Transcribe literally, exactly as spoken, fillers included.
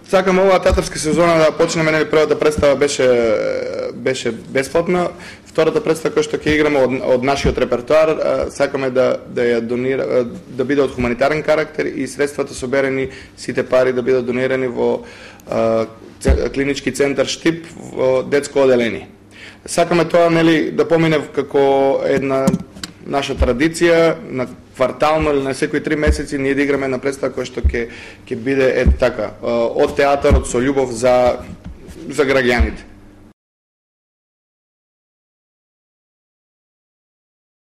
сакам оваа театарска сезона да почнеме, нели првата представа беше беше бесплатна, втората представа која што ќе играме од, од нашиот репертоар, сакаме да да ја донира, да биде од хуманитарен карактер и средствата соберени, сите пари да бидат донирани во а, клинички центар Штип во детско оделение. Сакаме тоа, нели, да помине како една наша традиција, на квартално или на секои три месеци ние да играме на представа која што ќе ќе биде е така, од театарот со љубов за за граѓаните.